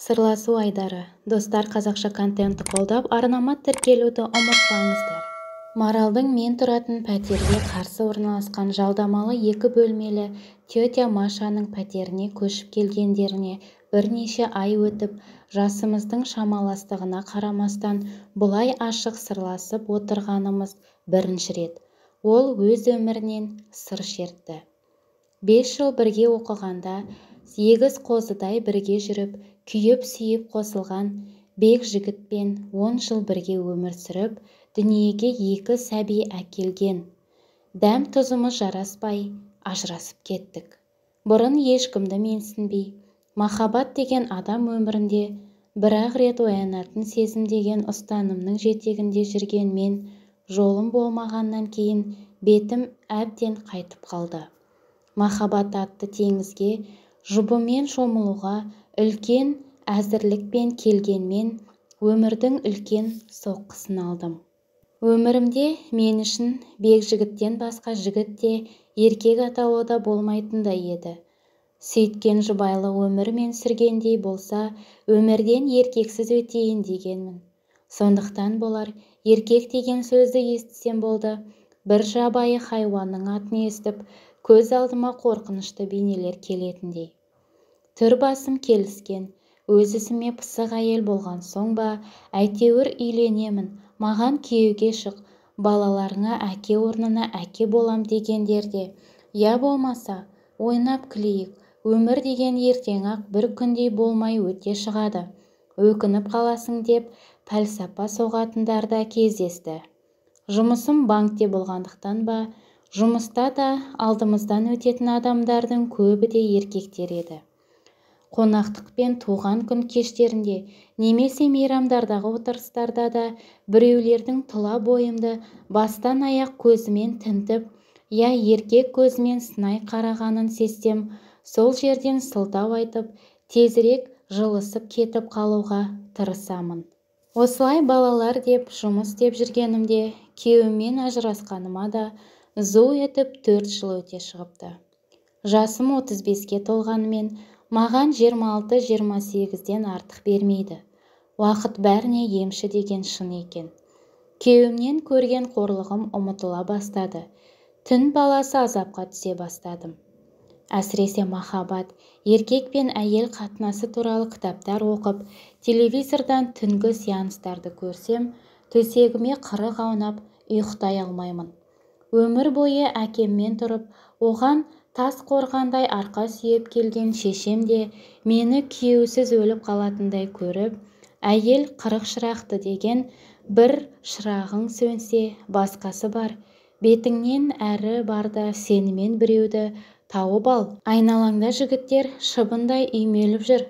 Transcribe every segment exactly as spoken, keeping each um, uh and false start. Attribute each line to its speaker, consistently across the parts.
Speaker 1: Сырласу айдары. Достар, қазақша контентті қолдап, арнама тіркелуді ұмытпаңыздар. Маралдың мен тұратын пәтерге қарсы орналасқан жалдамалы екі бөлмелі тетя Машаның пәтеріне көшіп келгендеріне бірнеше ай өтіп, жасымыздың шамаластығына қарамастан бұлай ашық сырласып отырғанымыз бірінші рет. Ол өз өмірінен сыр шертті. Бес жыл бірге оқығанда, егіз қозыдай бірге жүріп, күйіп-сүйіп қосылған бек жігітпен он жыл бірге өмір сүріп, дүниеге екі сәби әкелген. Дәм тұзымыз жараспай, ажырасып кеттік. Бұрын ешкімді менсінбей, махаббат деген адам өмірінде бір-ақ рет оянатын сезім деген ұстанымның жетегінде жүрген мен, жолым болмағаннан кейін бетім әбден қайтып қалды. Махаббат атты теңізге жұбымен шомылуға үлкен әзірлікпен келгенмен өмірдің үлкен соққысын алдым. Өмірімде мен үшін бек жігіттен басқа жігіт те, еркек атауы да болмайтындай еді. Сөйткен жұбайлы өмірмен сүргендей болса, өмірден еркексіз өтейін дегенмін. Сондықтан болар, еркек деген сөзді естісем болды, бір жабайы хайуанның атын естіп, көз алдыма қорқынышты бейнелер келетіндей. Түр басым келіскен, өз ісіме пысық әйел болған соң ба, әйтеуір үйленемін, маған күйеуге шық, балаларыңа әке орнына әке болам дегендерде, я болмаса, ойнап күлейік, өмір деген ертең-ақ бір күндей болмай өте шығады, өкініп қаласың деп пәлсапа соғатындар да кездесті. Жұмысым банкте болғандықтан ба, жұмыста да алдымыздан өтетін адамдардың көбі де еркектер еді. Қонақтық пен туған күн кештерінде, немесе мейрамдардағы отырыстарда да біреулердің тұла бойымды бастан аяқ көзімен тінтіп, я еркек көзімен сынай қарағанын сезсем, сол жерден сылтау айтып, тезірек жылысып кетіп қалуға тырысамын. Осылай балалар деп, жұмыс деп жүргенімде, күйеуіммен ажырасқаныма да зу етіп төрт жыл өте шығыпты. Жасым отыз беске толғанымен, маған жиырма алты жиырма сегізден артық бермейді. Уақыт бәріне емші деген шын екен. Күйеуімнен көрген қорлығым ұмытыла бастады. Түн баласы азапқа түсе бастадым. Әсіресе махаббат, еркек пен әйел қатынасы туралы кітаптар оқып, телевизордан түнгі сеанстарды көрсем, төсегіме қырық аунап, ұйықтай алмаймын. Өмір бойы әкеммен тұрып, оған тас қорғандай арқа сүйеп келген шешем де мені күйеусіз өліп қалатындай көріп, әйел қырық шырақты деген бір шырағың сөнсе, басқасы бар, бетіңнен әрі барда сенімен біреуді тауып ал. Айналаңда жігіттер шыбындай үймеліп жүр.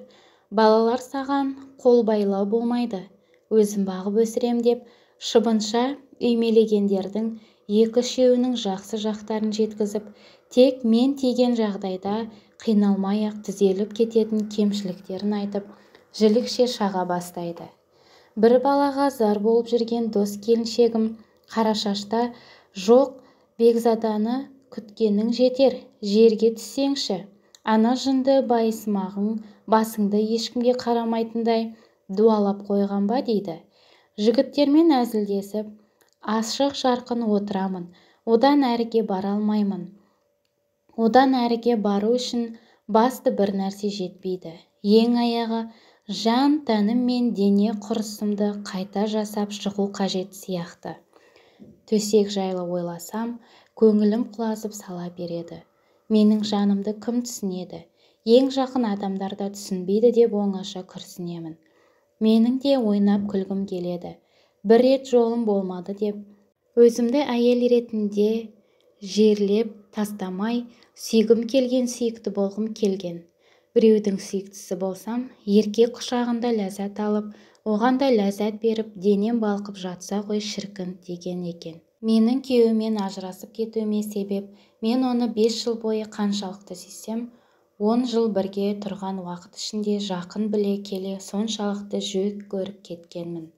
Speaker 1: Балалар саған қол байлау болмайды. Өзім бағып өсірем деп, шыбынша үймелегендердің екі-үшеуінің жақсы жақтарын жеткізіп, тек мен тиген жағдайда қиналмай-ақ түзеліп кететін кемшіліктерін айтып, жілікше шаға бастайды. Бір балаға зар болып жүрген дос келіншегім Қарашашта, жоқ, Бекзаданы күткенің жетер, жерге түссеңші. Ана жынды байысмағың басыңды ешкімге қарамайтындай дуалап қойған ба дейді. Жігіттермен әзілдесіп, ашық жарқын отырамын, одан әріге бара алмаймын. Одан әріге бару үшін басты бір нәрсе жетпейді. Ең аяғы жан тәнім мен дене құрысымды қайта жасап шығу қажет сияқты. Төсек жайлы ойласам, көңілім құлазып сала береді. Менің жанымды кім түсінеді? Ең жақын адамдар да түсінбейді деп оңаша күрсінемін. Менің де ойнап күлгім келеді. Бір рет жолым болмады деп, өзімді әйел ретінде жерлеп тастамай, сүйгім келген сүйікті болғым келген. Біреудің сүйіктісі болсам, еркек құшағында ләззат алып, оған да ләззат беріп, денем балқып жатса ғой шіркін деген екен. Менің күйеуімен ажырасып кетуіме себеп, мен оны бес жыл бойы қаншалықты сүйсем, он жыл бірге тұрған уақыт ішінде жақын біле келе соншалықты жек көріп кеткенмін.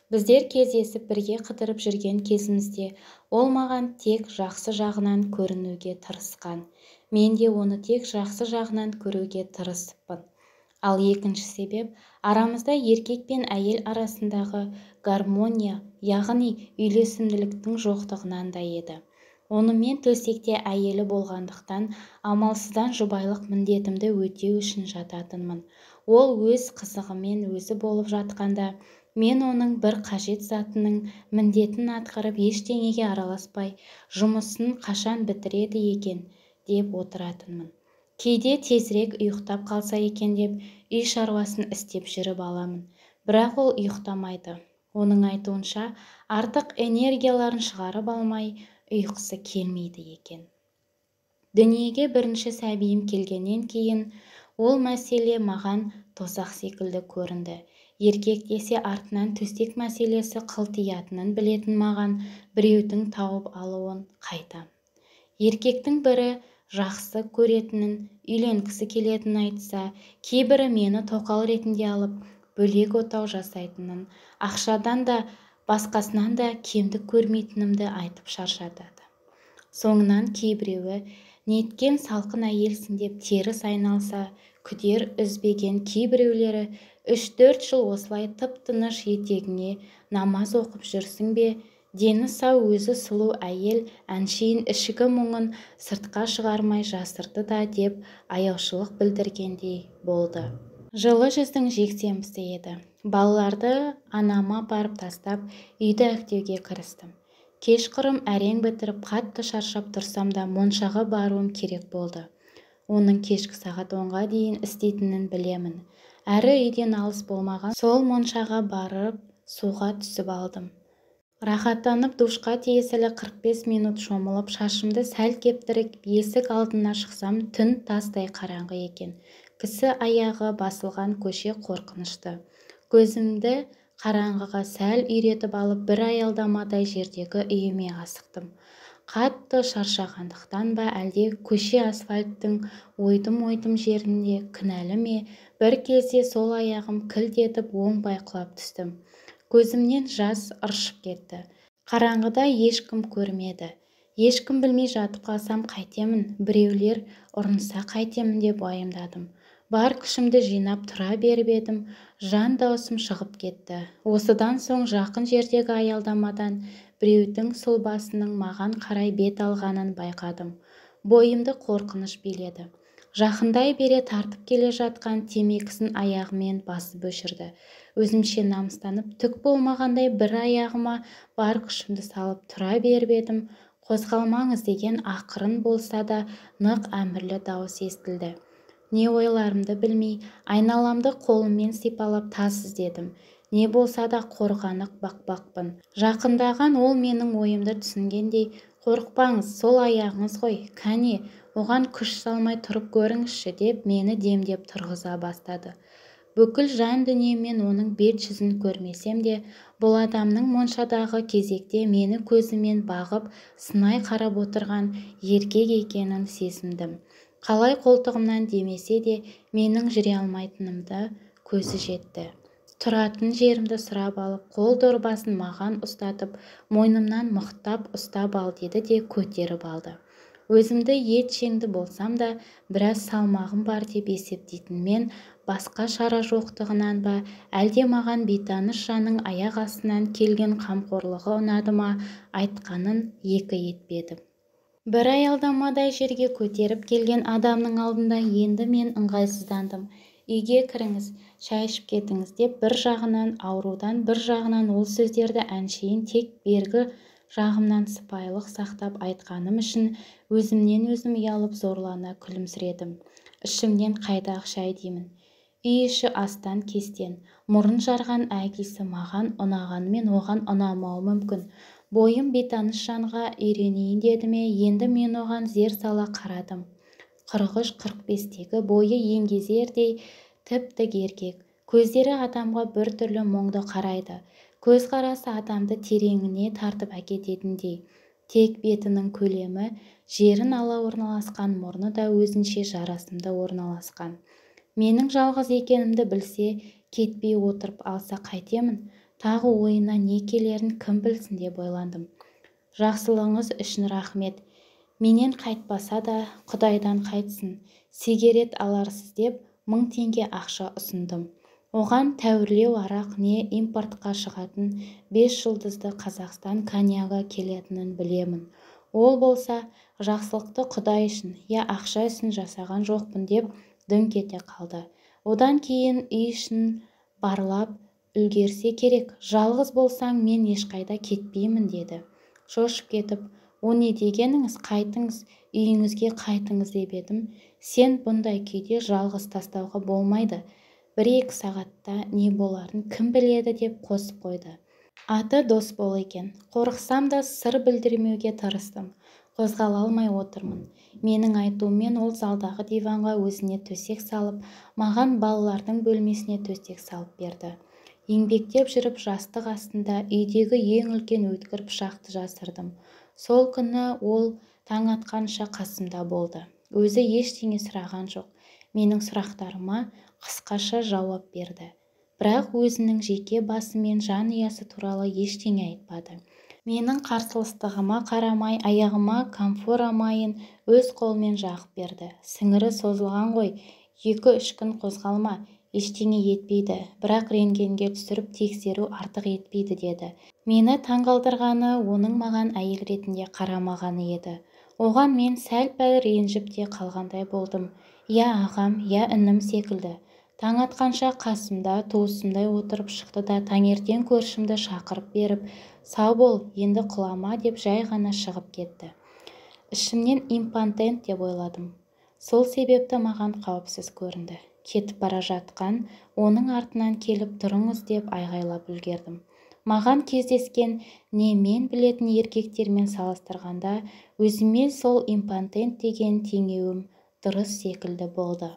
Speaker 1: Біздер кездесіп бірге қыдырып жүрген кезімізде, ол маған тек жақсы жағынан көрінуге тырысқан. Мен де оны тек жақсы жағынан көруге тырысыппын. Ал екінші себеп арамызда еркек пен әйел арасындағы гармония, яғни үйлесімділіктің жоқтығынан да еді. Онымен төсекте әйелі болғандықтан амалсыздан жұбайлық міндетімді өтеу үшін жататынмын. Ол өз қызығымен өзі болып жатқанда, мен оның бір қажет затының міндетін атқарып ештеңеге араласпай, жұмысын қашан бітіреді екен деп отыратынмын. Кейде тезірек ұйықтап қалса екен деп үй шаруасын істеп жүріп аламын. Бірақ ол ұйықтамайды. Оның айтуынша артық энергияларын шығарып алмай ұйқысы келмейді екен. Дүниеге бірінші сәбиім келгеннен кейін ол мәселе маған тозақ секілді көрінді. Еркек десе артынан төстек мәселесі қылтиятынын білетін маған біреудің тауып алуын қайтам. Еркектің бірі жақсы көретінін, үйленгісі келетінін айтса, кейбірі мені тоқал ретінде алып, бөлек отау жасайтынын, ақшадан да, басқасынан да кемдік көрмейтінімді айтып шаршатады. Соңынан кейбіреуі, неткен салқын әйелсің деп теріс айналса, күдер үзбеген кейбіреулері үш-төрт жыл осылай тып-тыныш етегіңе намаз оқып жүрсің бе, дені сау өзі сұлу әйел әншейін ішкі мұңын сыртқа шығармай жасырды да деп аяушылық білдіргендей болды. Жылы жүздің жексенбісі еді. Балаларды анама апарып тастап, үйді әктеуге кірістім. Кешқұрым әрең бітіріп қатты шаршап тұрсам да моншаға баруым керек болды. Оның кешкі сағат онға дейін істейтінін білемін. Әрі үйден алыс болмаған сол моншаға барып суға түсіп алдым. Рахаттанып душқа тиесілі қырық бес минут шомылып, шашымды сәл кептіріп, есік алдына шықсам, түн тастай қараңғы екен. Кісі аяғы басылған көше қорқынышты. Көзімді қараңғыға сәл үйретіп алып, бір аялдамадай жердегі үйіме асықтым. Қатты шаршағандықтан ба, әлде көше асфальттың ойдым-ойдым жерінде кінәлі ме, бір кезде сол аяғым кілт етіп оңбай құлап түстім. Көзімнен жас ыршып кетті. Қараңғыда ешкім көрмеді. Ешкім білмей жатып қалсам қайтемін, біреулер ұрынса қайтемін деп уайымдадым. Бар күшімді жинап тұра беріп едім, жан даусым шығып кетті. Осыдан соң жақын жердегі аялдамадан біреудің сұлбасының маған қарай бет алғанын байқадым. Бойымды қорқыныш биледі. Жақындай бере тартып келе жатқан темекісін аяғымен басып өшірді. Өзімше намыстанып, түк болмағандай бір аяғыма бар күшімді салып тұра беріп едім. Қозғалмаңыз деген ақырын болса да нық әмірлі дауыс естілді. Не ойларымды білмей, айналамды қолыммен сипалап тас іздедім. Не болса да қорғанық бақпақпын. Жақындаған ол менің ойымды түсінгендей, қорықпаңыз, сол аяғыңыз ғой, кәне, оған күш салмай тұрып көріңізші деп мені демдеп тұрғыза бастады. Бүкіл жан дүниемен оның бет жүзін көрмесем де, бұл адамның моншадағы кезекте мені көзімен бағып, сынай қарап отырған еркек екенін сезіндім. Қалай қолтығымнан демесе де, менің жүре алмайтынымды көзі жетті. Тұратын жерімді сұрап алып, қол дорбасын маған ұстатып, мойнымнан мықтап ұстап ал деді де көтеріп алды. Өзімді ет жеңді болсам да, біраз салмағым бар деп есептейтін мен, басқа шара жоқтығынан ба, әлде маған бейтаныс жанның аяқ астынан келген қамқорлығы ұнады ма, айтқанын екі етпедім. Бір аялдамадай жерге көтеріп келген адамның алдында енді мен ыңғайсыздандым. Үйге кіріңіз, шай ішіп кетіңіз деп бір жағынан аурудан, бір жағынан ол сөздерді әншейін тек бергі жағымнан сыпайылық сақтап айтқаным үшін өзімнен өзім ұялып зорлана күлімсіредім. Ішімнен қайдағы шай деймін. Үй іші астан кестен, мұрын жарған әкесі маған ұнағанымен оған ұнамауы мүмкін. Бойым бейтаныс жанға үйренейін деді ме, енді мен оған зер сала қарадым. қырық үш қырық бестегі бойы еңгезердей тіп-тік еркек. Көздері адамға бір түрлі мұңды қарайды. Көз қарасы адамды тереңіне тартып әкететіндей. Тек бетінің көлемі, жерін ала орналасқан мұрны да өзінше жарасымды орналасқан. Менің жалғыз екенімді білсе, кетпей отырып алса қайтемін? Тағы ойына не келерін кім білсін деп ойландым. Жақсылығыңыз үшін рахмет. Менен қайтпаса да Құдайдан қайтсын. Сигарет аларсыз деп мың теңге ақша ұсындым. Оған тәуірлеу арақ не импортқа шығатын бес жұлдызды Қазақстан коньягі келетінін білемін. Ол болса, жақсылықты Құдай үшін, я ақша үшін жасаған жоқпын деп дүңк ете қалды. Одан кейін үй ішін барлап үлгерсе керек. Жалғыз болсаң мен ешқайда кетпеймін деді. Шошып кетіп, о не дегеніңіз, қайтыңыз, үйіңізге қайтыңыз деп едім. Сен бұндай күйде жалғыз тастауға болмайды. Бір-екі сағатта не боларын кім біледі деп қосып қойды. Аты дос бол екен. Қорықсам да сыр білдірмеуге тырыстым. Қозғала алмай отырмын. Менің айтуыммен ол залдағы диванға өзіне төсек салып, маған балалардың бөлмесіне төсек салып берді. Еңбектеп жүріп жастық астында үйдегі ең үлкен өткір пышақты жасырдым. Сол күні ол таң атқанша қасымда болды. Өзі ештеңе сұраған жоқ. Менің сұрақтарыма қысқаша жауап берді. Бірақ өзінің жеке басы мен жанұясы туралы ештеңе айтпады. Менің қарсыластығыма қарамай, аяғыма камфора майын өз қолмен жағып берді. Сіңірі созылған ғой, екі-үш күн қозғалма, ештеңе етпейді, бірақ рентгенге түсіріп тексеру артық етпейді деді. Мені таңғалдырғаны оның маған әйел ретінде қарамағаны еді. Оған мен сәл-пәл ренжіп те қалғандай болдым. Я ағам, я інім секілді. Таң атқанша қасымда туысымдай отырып шықты да таңертең көршімді шақырып беріп, сау бол, енді құлама деп жай ғана шығып кетті. Ішімнен импотент деп ойладым. Сол себепті маған қауіпсіз көрінді. Кетіп бара жатқан оның артынан келіп тұрыңыз деп айғайлап үлгердім. Маған кездескен не мен білетін еркектермен салыстырғанда өзіме сол импотент деген теңеуім дұрыс секілді болды.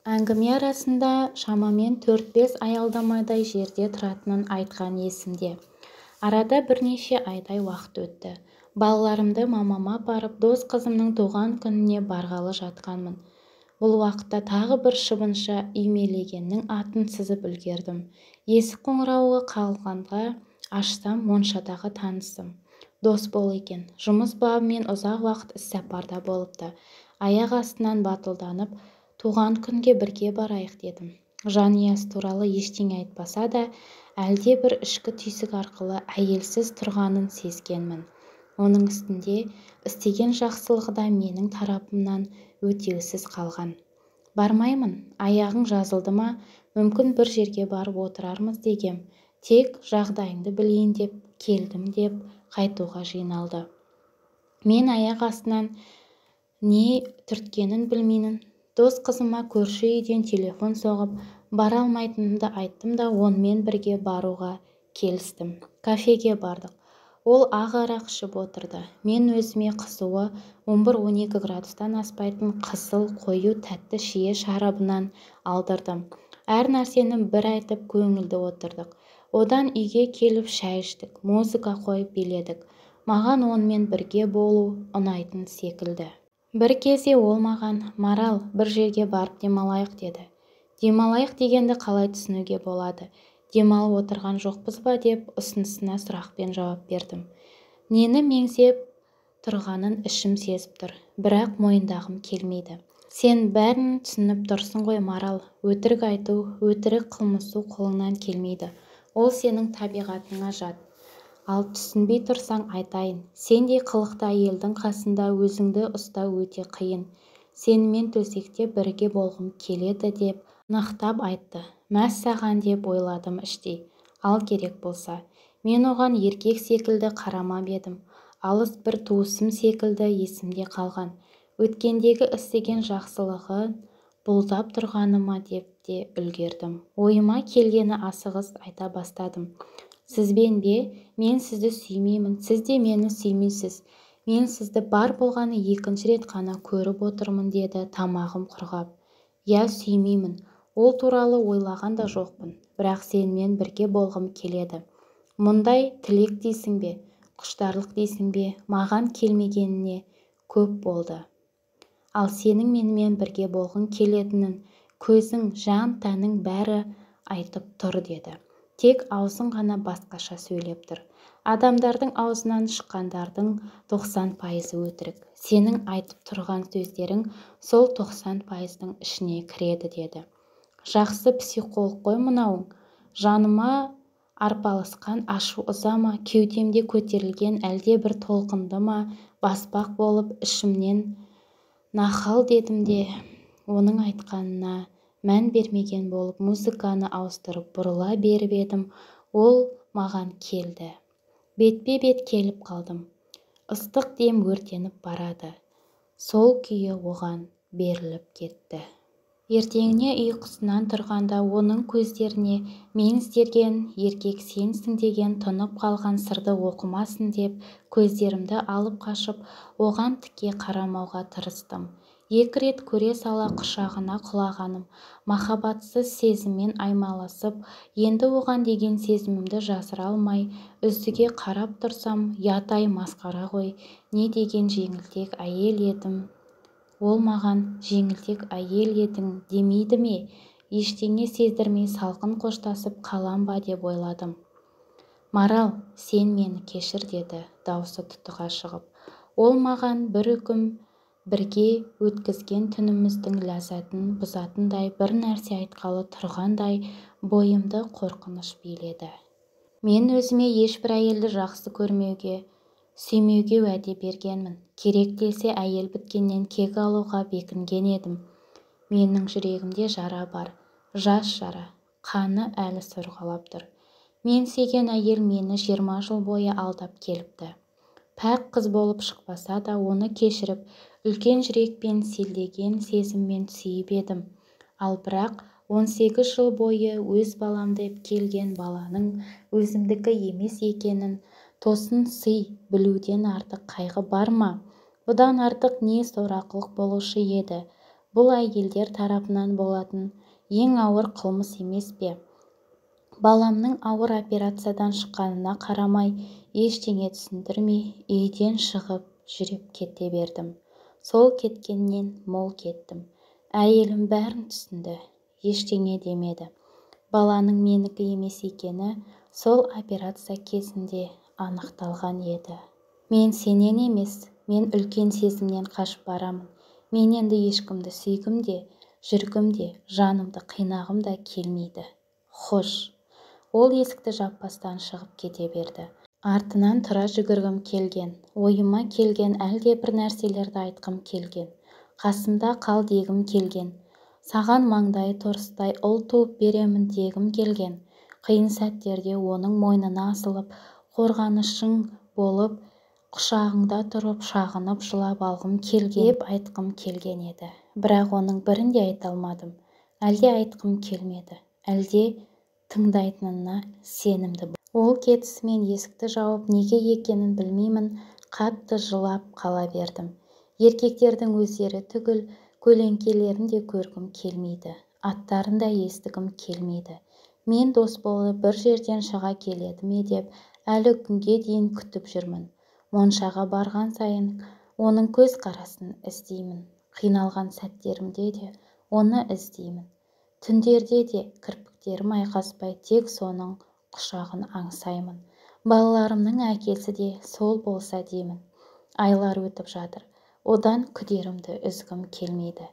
Speaker 1: Әңгіме арасында шамамен төрт-бес аялдамадай жерде тұратынын айтқан есімде. Арада бірнеше айдай уақыт өтті. Балаларымды мамама апарып, дос қызымның туған күніне барғалы жатқанмын. Бұл уақытта тағы бір шыбыншы үймелегеннің атын сызып үлгердім. Есік қоңырауы қалғанға ашсам, моншадағы танысым. Дос бол екен. Жұмыс бабымен ұзақ уақыт іссапарда болыпты. Аяқ астынан батылданып, туған күнге бірге барайық дедім. Жанұясы туралы ештеңе айтпаса да, әлде бір ішкі түйсік арқылы әйелсіз тұрғанын сезгенмін. Оның үстінде істеген жақсылығы да менің тарапымнан өтеусіз қалған. Бармаймын, аяғың жазылды ма, мүмкін бір жерге барып отырармыз дегем. Тек жағдайыңды білейін деп келдім деп қайтуға жиналды. Мен аяқ астынан не түрткенін білмеймін. Дос қызыма көрші үйден телефон соғып, бара алмайтынымды айттым да онымен бірге баруға келістім. Кафеге бардық. Ол ақ арақ ішіп отырды. Мен өзіме қызуы он бір-он екі градустан аспайтын қызыл, қою, тәтті шие шарабынан алдырдым. Әр нәрсені бір айтып көңілді отырдық. Одан үйге келіп шай іштік, музыка қойып биледік. Маған онымен бірге болу ұнайтын секілді. Бір кезде ол маған, Марал, бір жерге барып демалайық деді. Демалайық дегенді қалай түсінуге болады? Демалып отырған жоқпыз ба деп ұсынысына сұрақпен жауап бердім. Нені меңзеп тұрғанын ішім сезіп тұр, бірақ мойындағым келмейді. Сен бәрін түсініп тұрсың ғой, Марал. Өтірік айту, өтірік қылмысу қолыңнан келмейді. Ол сенің табиғатыңа жат. Ал түсінбей тұрсаң айтайын, сендей қылықты әйелдің қасында өзіңді ұстау өте қиын. Сенімен төсекте бірге болғым келеді деп нақтап айтты. Мәссаған деп ойладым іштей. Ал керек болса. Мен оған еркек секілді қарамап едім. Алыс бір туысым секілді есімде қалған. Өткендегі істеген жақсылығы бұлдап тұрғаныма деп те үлгердім. Ойыма келгені асығыс айта бастадым. Сізбен бе? Мен сізді сүймеймін, сіз де мені сүймейсіз. Мен сізді бар болғаны екінші рет қана көріп отырмын деді тамағым құрғап. Я сүймеймін. Ол туралы ойлаған да жоқпын. Бірақ сенімен бірге болғым келеді. Мұндай тілек дейсің бе? Құштарлық дейсің бе? Маған келмегеніне көп болды. Ал сенің менімен бірге болғың келетінін көзің, жан, тәнің бәрі айтып тұр деді. Тек аузың ғана басқаша сөйлеп тұр. Адамдардың аузынан шыққандардың тоқсан пайызы өтірік. Сенің айтып тұрған сөздерің сол тоқсан пайыздың ішіне кіреді деді. Жақсы психолог қой мынауың. Жаныма арпалысқан ашу ыза ма, кеудемде көтерілген әлде бір толқынды ма баспақ болып ішімнен нахал дедім де, оның айтқанына мән бермеген болып музыканы ауыстырып бұрыла беріп едім. Ол маған келді. Бетпе-бет келіп қалдым. Ыстық дем өртеніп барады. Сол күйі оған беріліп кетті. Ертеңіне ұйқысынан тұрғанда оның көздеріне мен іздерген еркек сенсің деген тұнып қалған сырды оқымасын деп көздерімді алып қашып оған тіке қарамауға тырыстым. Екі рет көре сала құшағына құлағаным махаббатсыз сезіммен аймаласып, енді оған деген сезімімді жасыра алмай үздіге қарап тұрсам, ятай масқара ғой, не деген жеңілтек әйел едім. Ол маған жеңілтек әйел едің демейді ме? Ештеңе сездірмей салқын қоштасып қалам ба деп ойладым. Марал, сен мені кешір деді, даусы тұтыға шығып. Ол маған бір үкім бірге өткізген түніміздің ләззатын бұзатындай бір нәрсе айтқалы тұрғандай бойымды қорқыныш биледі. Мен өзіме ешбір әйелді жақсы көрмеуге, сүймеуге уәде бергенмін. Керек десе әйел біткеннен кек алуға бекінген едім. Менің жүрегімде жара бар, жас жара, қаны әлі сорғалап тұр. Мен сүйген әйел мені жиырма жыл бойы алдап келіпті. Пәк қыз болып шықпаса да оны кешіріп, үлкен жүрекпен селдеген сезіммен сүйіп едім. Ал бірақ он сегіз жыл бойы өз балам деп келген баланың өзімдікі емес екенін тосын сый білуден артық қайғы бар ма? Бұдан артық не сорақылық болушы еді? Бұл әйелдер тарапынан болатын ең ауыр қылмыс емес пе? Баламның ауыр операциядан шыққанына қарамай, ештеңе түсіндірмей, үйден шығып жүріп кете бердім. Сол кеткеннен мол кеттім. Әйелім бәрін түсінді, ештеңе демеді. Баланың менікі емес екені сол операция кезінде анықталған еді. Мен сенен емес, мен үлкен сезімнен қашып барамын. Мен енді ешкімді сүйгім де, жүргім де, жанымды қинағым да келмейді. Хош. Ол есікті жаппастан шығып кете берді. Артынан тұра жүгіргім келген, ойыма келген әлде бір нәрселерді айтқым келген. Қасымда қал дегім келген. Саған маңдай торыстай ұл туып беремін дегім келген. Қиын сәттерде оның мойнына асылып, қорғанышың болып, құшағыңда тұрып, шағынып жылап алғым келген деп айтқым келген еді. Бірақ оның бірін де айта алмадым. Әлде айтқым келмеді, әлде тыңдайтынына сенімді. Ол кетісімен есікті жауып неге екенін білмеймін, қатты жылап қала бердім. Еркектердің өздері түгіл, көлеңкелерін де көргім келмейді, аттарын да естігім келмейді. Мен дос болып бір жерден шыға келеді ме деп әлі күнге дейін күтіп жүрмін. Моншаға барған сайын оның көз қарасын іздеймін. Қиналған сәттерімде де оны іздеймін. Түндерде де кірпіктерім айқаспай тек соның құшағын аңсаймын. Балаларымның әкесі де сол болса деймін. Айлар өтіп жатыр. Одан күдерімді үзгім келмейді.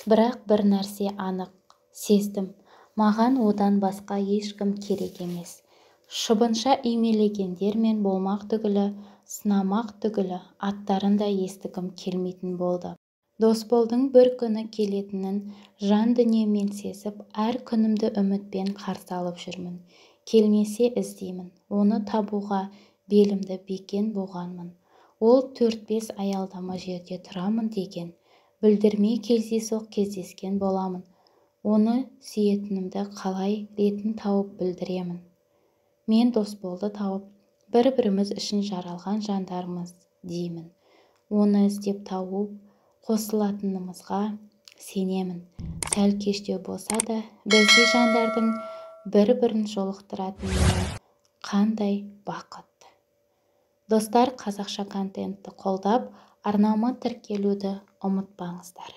Speaker 1: Бірақ бір нәрсе анық, сездім. Маған одан басқа ешкім керек емес. Шыбынша үймелегендер мен болмақ түгілі, сынамақ түгілі аттарын да естігім келмейтін болды. Досболдың бір күні келетінін жан дүниемен сезіп, әр күнімді үмітпен қарсы алып жүрмін. Келмесе іздеймін, оны табуға белімді бекен буғанмын. Ол төрт-бес аялдама жерде тұрамын деген, білдірмей кездейсоқ кездескен боламын. Оны сүйетінімді қалай ретін тауып білдіремін. Мен Досболды тауып, бір-біріміз үшін жаралған жандармыз деймін. Оны іздеп тауып, қосылатынымызға сенемін. Сәл кештеу болса да, біздей жандардың бір-бірін жолықтыратынына қандай бақыт. Достар, қазақша контентті қолдап, арнама тіркелуді ұмытпаңыздар.